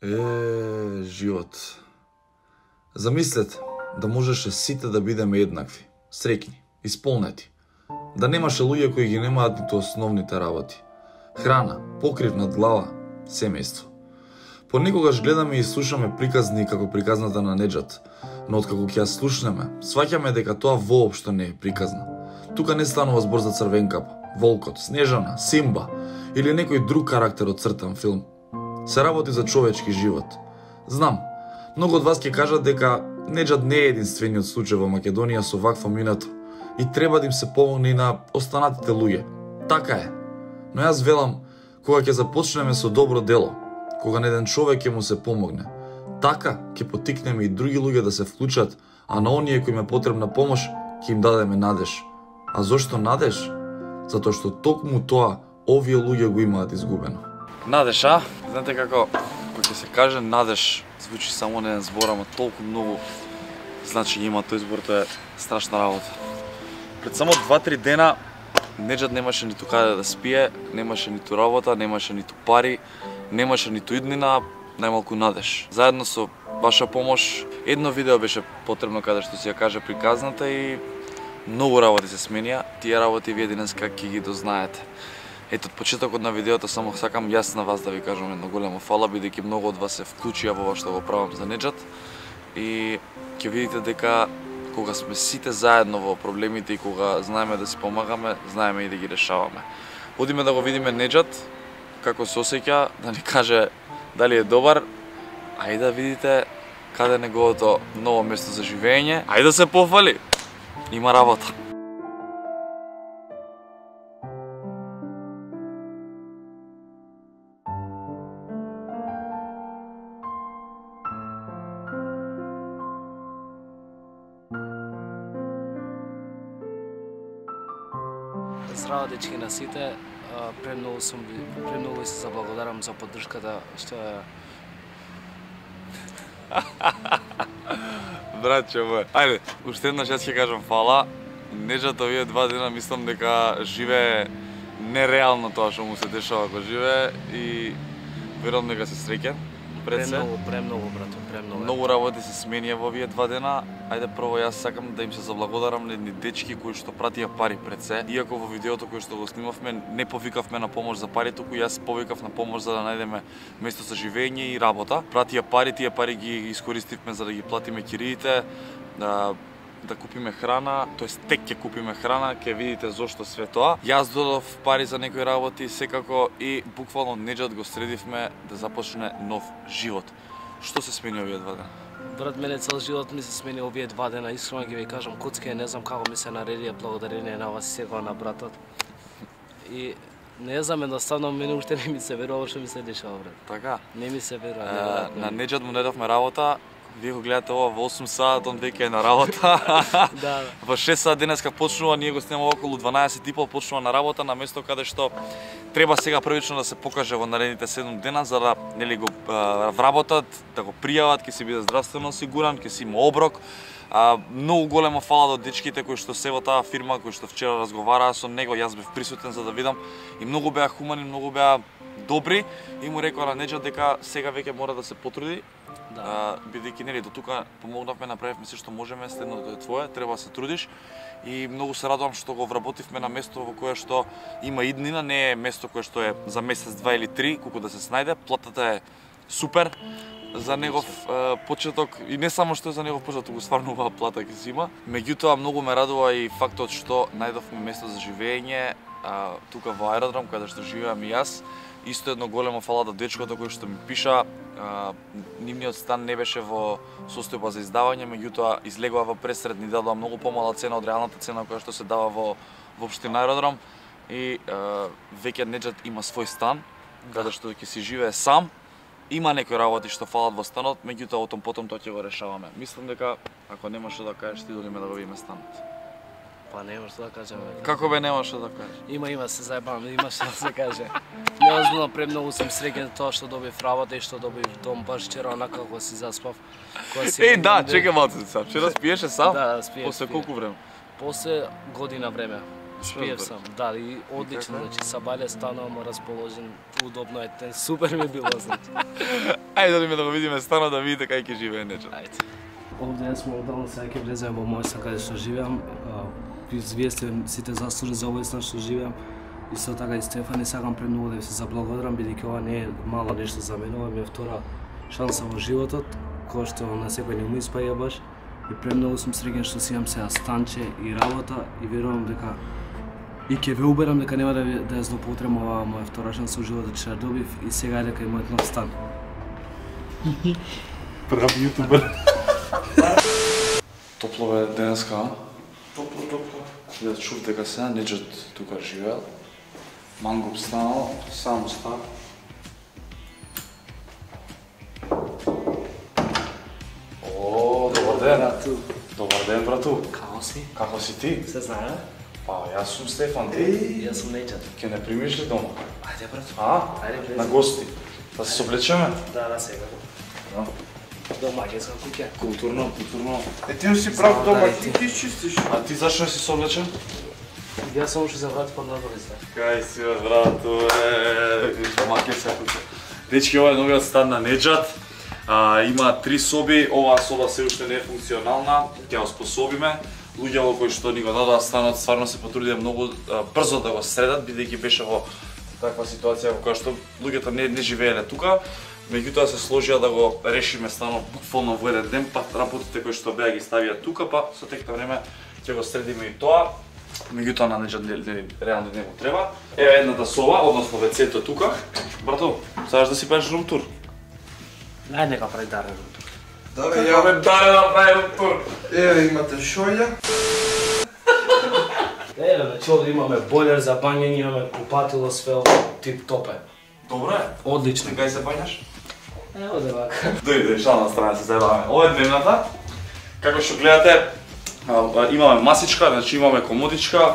Живот. Замислете да можеше сите да бидеме еднакви, среќни, исполнети. Да немаше луѓе кои ги немаат ниту основните работи. Храна, покрив над глава, семејство. Понекогаш гледаме и слушаме приказни како приказната на Неџат, но откако ќе ја слушнеме, сваќаме дека тоа воопшто не е приказна. Тука не станува збор за Црвенкапа, Волкот, Снежана, Симба или некој друг карактер од цртан филм. Се работи за човечки живот. Знам, многу од вас ќе кажат дека Неџат не е единствениот случај во Македонија со вакво минато и треба да им се помогне и на останатите луѓе. Така е. Но јас велам, кога ќе започнеме со добро дело, кога на еден човек ќе му се помогне, така ќе потикнеме и други луѓе да се вклучат, а на оние кои им е потребна помош, ќе им дадеме надеж. А зошто надеж? Затоа што токму тоа овие луѓе го имаат изгубено. Надеж, а? Знаете како ќе се каже надеж, звучи само на еден збор, ама толку многу значи има тој збор, тоа е страшна работа. Пред само 2-3 дена Неџат немаше ниту каде да спие, немаше ниту работа, немаше ниту пари, немаше ниту иднина, најмалку надеж. Заедно со ваша помош, едно видео беше потребно каде што си ја каже приказната и многу работи се сменија. Тие работи вие денеска ќе ги дознаете. Ето, од почетокот на видеото само сакам јас на вас да ви кажам едно големо фала, бидејќи многу од вас се вклучија во ова што го правам за Неџат и ќе видите дека кога сме сите заедно во проблемите и кога знаеме да си помагаме, знаеме и да ги решаваме. Одиме да го видиме Неџат, како се осеќа, да ни каже дали е добар, а и да видите каде е неговото ново место за живење. Ајде да се пофали, има работа. Здраво дечки на сите, премногу ви се заблагодарам за поддршката што е. Братче мој, ајде, уште еднаш јас ќе кажам фала. Неџат овие 2 дена мислам дека живее нереално тоа што му се дешава кога живее и верувам дека се среќен. Премногу, брато, премногу. Многу работи се сменија во овие 2 дена. Ајде прво јас сакам да им се заблагодарам на едни дечки кои што пратија пари пред се. Иако во видеото кој што го снимавме не повикавме на помош за пари, туку јас повикав на помош за да најдеме место за живење и работа. Пратија пари, тие пари ги искористивме за да ги платиме кириите, да купиме храна, тоест тек ќе купиме храна, ќе видите зошто све тоа. Јас додов пари за некои работи, секако и буквално Неџат го средивме да започне нов живот. Што се смени овие 2 дена? Брат, мене цел живот ми се смени овие 2 дена, искрено ги ви кажам, коцка не знам како ми се наредија благодарение на вас сега на братот. И не знам, едноставно мене уште не ми се верува што ми се дешава, брат. Така? Не ми се верува. На Неџат му најдовме работа. Вие го гледате ова во 8 сат, он веќе е на работа. Да. Во 6 сат денеска почнува, ние го снимаме околу 12:30, почнува на работа на место каде што треба сега првично да се покаже во наредните 7 дена за да нели го вработат, да го пријават, ќе си биде здравствено осигуран, ќе си има оброк. Многу големо фала до дечките кои што се во таа фирма, кои што вчера разговараа со него, јас бев присутен за да видам и многу беа хумани, многу беа добри и му рекоа на Неџат дека сега веќе мора да се потруди. Да. Бидејќи нели до тука помогнавме, направивме се што можеме, следното е твое, треба да се трудиш и многу се радувам што го вработивме на место во кое што има иднина, не е место кое што е за месец, 2 или 3, колку да се снајде, платата е супер за негов почеток и не само што е за негов почеток, туку стварно убава плата ќе си има. Меѓутоа многу ме радува и фактот што најдовме место за живење тука во аеродром каде што живеам и јас. Исто едно големо фала до дечкото кој што ми пиша, нивниот стан не беше во состојба за издавање, меѓутоа излегува во пресред, ни дадоа многу помала цена од реалната цена која што се дава во општина аеродром и веќе Неџат има свој стан, каде што ќе си живее сам. Има некои работи што фалат во станот, меѓутоа отом потом тоа ќе го решаваме. Мислам дека ако нема што да кажеш, ти долиме да го видиме станот. Па нема што да кажам. Како бе нема што да кажеш? Има се заебам, има што да се каже. Неозбилно премногу сум среќен тоа што добив работа и што добив дом баш вчера онака кога си заспав. Да, чекај малце сам. Вчера спиеше сам? Да, спиев. После колку време? После година време. Спиев сам, да, и одлично, значи сабале станувам расположен, удобно е, супер ми било, значи. Ајде да го видиме стано да видите кај ќе живее Неджат. Ајде. Овде сме одално, сега ќе влеземе во мојста каде што живеам. Вие сте сите заслужи за овој стан што живеам. Исто така и Стефани, сакам премногу да ви се заблагодарам, бидејќи ова не е мало нешто за мене, ова ми е втора шанса во животот, која што на секој не му испаја баш. И премногу сум среќен што си имам сега станче и работа и верувам дека и ќе ве уберам дека нема да ја злоупотребам оваа моја втора шанса во животот што ја добив и сега е дека е мојот нов стан. Прав јутубер. Топло бе денеска, а? Топло. Да чув дека сега Неджат тука живеел. Мангоп станал, само став. О, добар ден. Брату. Добар ден, брату. Како си? Како си ти? Се знае? Па, јас сум Стефан, ти? Јас сум Неджат. Ќе не примиш ли дома? Ајде, брату. А? Ајде, влези. На гости. Да се соблечеме? Да, сега. Да. Домаќинска куќа. Културно. Ти си прав дома, да, ти изчистиш. А ти зашто не си соблечен? Јас само што се врати под надолиста. Кај си, брату, домаќин се куќа. Дечки, ова е новиот стан на Неджат. Има 3 соби, оваа соба се уште не е функционална, ќе ја оспособиме. Луѓето кои што ни го дадоа станот стварно се потрудија многу брзо да го средат, бидејќи беше во таква ситуација во која што луѓето не живееле тука. Меѓутоа се сложија да го решиме станот буквално во еден ден, па работите кои што беа ги ставија тука, па со тек на време ќе го средиме и тоа. Меѓутоа на Неджат реално не му треба. Еве едната соба, односно вецето тука. Брато, сакаш да си правиш рум тур? Нај нека прави дарен. Да, Ја ме даре да прави рум тур. Еве имате шоја. Еве, значи овде имаме бойлер за бањење, имаме купатило, све ово тип топ е. Добро е. Одлично. Кај се бањаш? Ево да вака. Дојде, шална страна се заебаваме. Ова е дневната. Како што гледате, имаме масичка, значи имаме комодичка,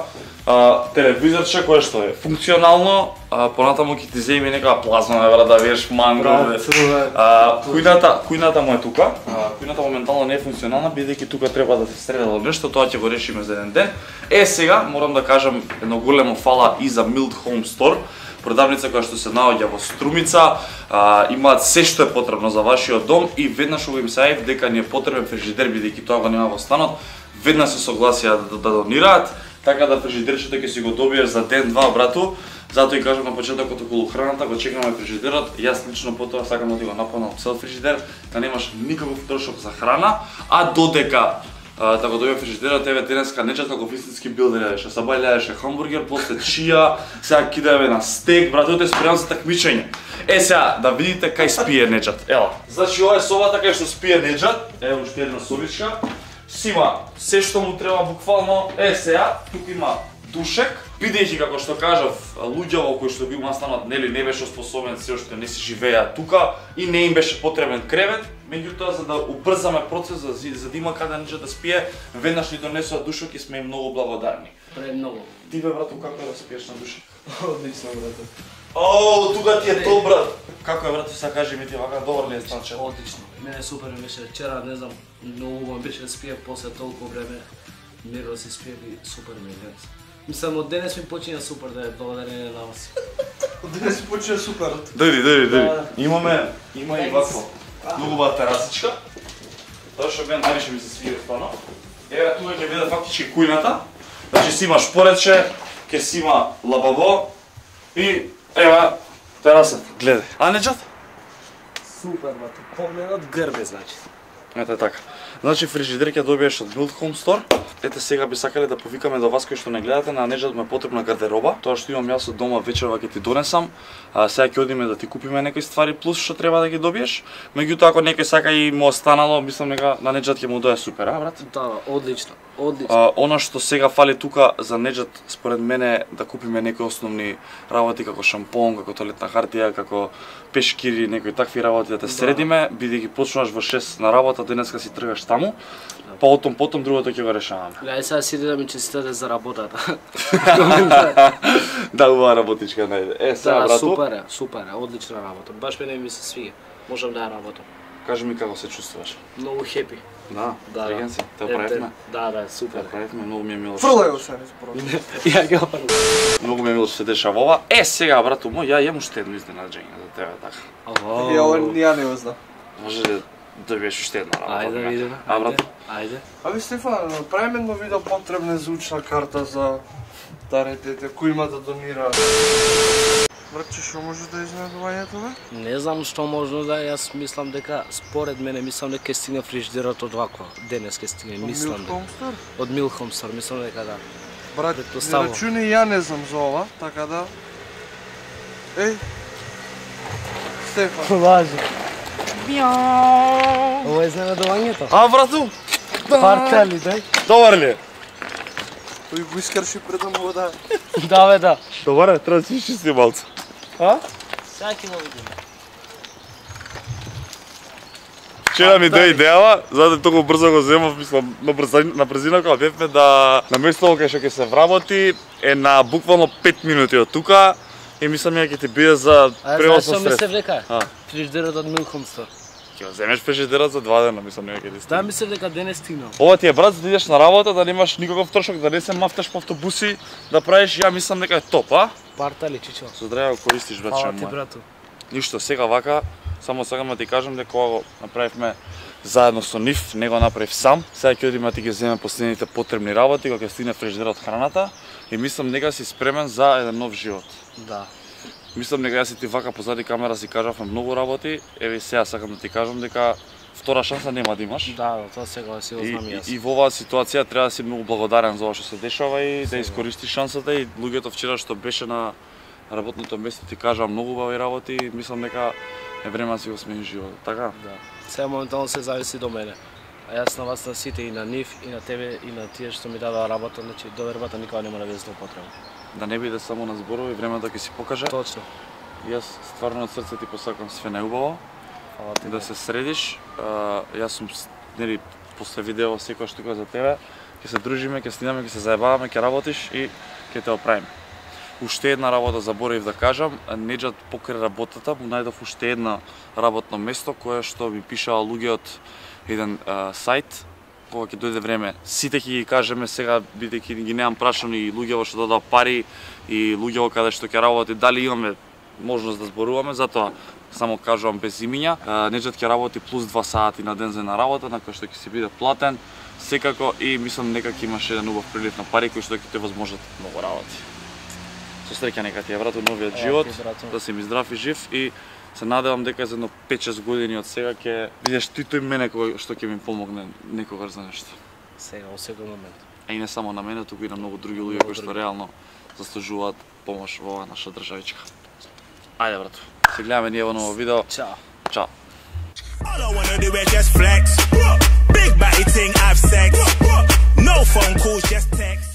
телевизорче кое што е функционално, понатаму ќе ти земи нека плазма евра да видиш манго. Кујната му е тука. Кујната моментално не е функционална, бидејќи тука треба да се средало нешто, тоа ќе го решиме за еден ден. Сега морам да кажам едно големо фала и за Mild Home Store, продавница која што се наоѓа во Струмица, имаат се што е потребно за вашиот дом и веднаш кога им се јавив дека ни е потребен фрижидер бидејќи тоа го нема во станот, веднаш се согласија да донираат, така да фрижидерчето ќе си го добиеш за ден-два, брату. Затоа и кажам на почетокот околу храната, го чекаме фрижидерот. Јас лично потоа сакам да ти го напълнам цел фрижидер, да немаш никаков трошок за храна, а додека да го добием фрижидерот, еве денеска Неджат како вистински билдер јадеше. Сабај јадеше хамбургер, после чија, сега кидаме на стек, брате, тоа е спреман за такмичење. Сега да видите кај спие Неджат. Ела. Значи ова е собата кај што спие Неджат. Ево уште една собичка. Сима се што му треба буквално. Сега тука има душек, бидејќи како што кажав, луѓето кои што бил настанот нели не беше способен, се уште не си живеа тука и не им беше потребен кревет, меѓутоа за да убрзаме процесот, за да има каде Неджат да спие, веднаш ни донесоа душек и сме им многу благодарни. Премногу. Ти бе брато, како е да спиеш на душек? Одлично, брате. О, тука ти е тој брат. Како е брато, сега кажи ми ти вака, добар ли е станче? Одлично. Мене супер ми беше вчера, не знам, многу ми беше спиев после толку време. Миро си спиев и супер ми е. Мислам, од денес ми почиња супер да е благодарение на вас. Од денес си почина супер. Дојди. Има и вакво. Многу ба терасичка. Тоа што мен највише ми се свија стварно. Еве тука ќе биде фактички кујната. Значи си има шпоредче, ќе си има лабаво и еве тераса. Гледај. А Неджат? Супер, брате. Погледот грбе, значи. Ете така. Значи фрижидер ќе добиеш од Mild Home Store. Ете сега би сакале да повикаме до вас кои што не гледате, на Неджат му е потребна гардероба. Тоа што имам јас од дома вечерва ќе ти донесам. Сега ќе одиме да ти купиме некои ствари плюс што треба да ги добиеш. Меѓутоа ако некој сака и му останало, мислам дека на Неджат ќе му дое супер, брат? Да, одлично. Одлично. Она што сега фали тука за Неджат според мене да купиме некои основни работи како шампон, како тоалетна хартија, како пешкири, некои такви работи да те средиме, бидејќи почнуваш во 6 на работа, денеска си тргаш таму. Па потом другото ќе го решаваме. Леј сега си да ми честитате за работата. Да, убава работичка најде. Сега Да, брату. супер е, одлична работа. Баш мене ми се свиѓа. Можам да ја работам. Кажи ми како се чувствуваш. Многу хепи. Да, Да, среќен си. Те правевме. Да, супер. Правевме, многу ми е мило. Фрлај го се низборот. Ја ги опарам. Многу ми е мило што се дешава ова. Сега, брату мој, ја имам уште едно изненаđење за тебе така. Ја не го знам. Може да добиеш уште една работа. Ајде да видиме. А, брату? Ајде. Аби Стефан, правиме едно видео потребна звучна карта за дарите кои има да донира. Братче, што може да изненадувањето бе? Не знам што можно да, јас мислам дека според мене мислам дека ќе стигне фрижидерот од ваква. Денес ќе стигне, мислам дека. Од Милхомстор, мислам дека да. Брат, не Предпоставувам. рачуни ја не знам за ова, така да. Еј. Стефан. Важи. Ова е изненадувањето. А, брату? Партали, дај. Добар ли е? Тој го искрши пред му да. Да бе, да. Добар е, треба да си чисти малце. А? Сега ќе го видиме. Вчера ми дојде идејава, затоа толку брзо го земав, мислам, на брзина кога бевме да на место кај што ќе се вработи е на буквално 5 минути од тука и мислам ја ќе ти биде за превозно Знаеш што средство. мислев дека? А. Фрижидерот од Милхомстор. Ќе го земеш фрижидерот за 2 дена, мислам дека ќе ти Да, стигне. мислев дека денес стигнал. Ова ти е брат за да идеш на работа, да немаш никаков трошок, да не се мафташ по автобуси, да правиш, ја мислам дека е топ, а? Партали, чичо. Со здраве го користиш, братче Фала ти, мој. брату. Ништо, сега вака, само сакам да ти кажам дека ова го направивме заедно со нив, не го направив сам. Сега ќе одиме да ти ги земеме последните потребни работи, кога ќе стигне фрижидерот храната и мислам дека си спремен за еден нов живот. Да. Мислам дека јас и ти вака позади камера си кажавме многу работи, еве сега сакам да ти кажам дека втора шанса нема да имаш. Да, тоа сега си го знам јас. И во оваа ситуација треба да си многу благодарен за ова што се дешава и да искористиш шансата и луѓето вчера што беше на работното место ти кажа многу убави работи и мислам дека е време да си го смени животот, така? Да. Сега моментално се зависи до мене. А јас на вас на сите и на нив и на тебе и на тие што ми дадоа работа, значи довербата никога нема да биде злоупотреба. Да не биде само на зборови, времето ќе си покаже. Точно. Јас стварно од срце ти посакам све најубаво, Фала ти. да се средиш. Јас сум нели после видео секојаш тука за тебе. Ќе се дружиме, ќе снимаме, ќе се заебаваме, ќе работиш и ќе те оправиме. Уште една работа заборавив да кажам, Неџат покрај работата му најдов уште едно работно место кое што ми пишаа луѓе од еден сајт. Кога ќе дојде време, сите ќе ги кажеме сега, бидејќи ги немам прашани и луѓево што дадоа пари и луѓево каде што ќе работи, дали имаме можност да зборуваме, затоа само кажувам без имиња. Неџат ќе работи плюс 2 сати на ден за една работа, на кој што ќе си биде платен, секако и мислам дека ќе имаш еден убав прилив на пари кои што ќе те возможат многу работи. Со среќа нека ти е брату новиот живот, да си ми здрав и жив и се надевам дека за едно 5-6 години од сега ќе видиш ти тој мене кој што ќе ми помогне некогаш за нешто. Сега, во секој момент. А и не само на мене, туку и на многу други луѓе кои што реално заслужуваат помош во оваа наша државичка. Ајде брату, се гледаме ние во ново видео. Чао. Чао. All I wanna do is just flex. Big body thing, have sex. No phone calls, just text.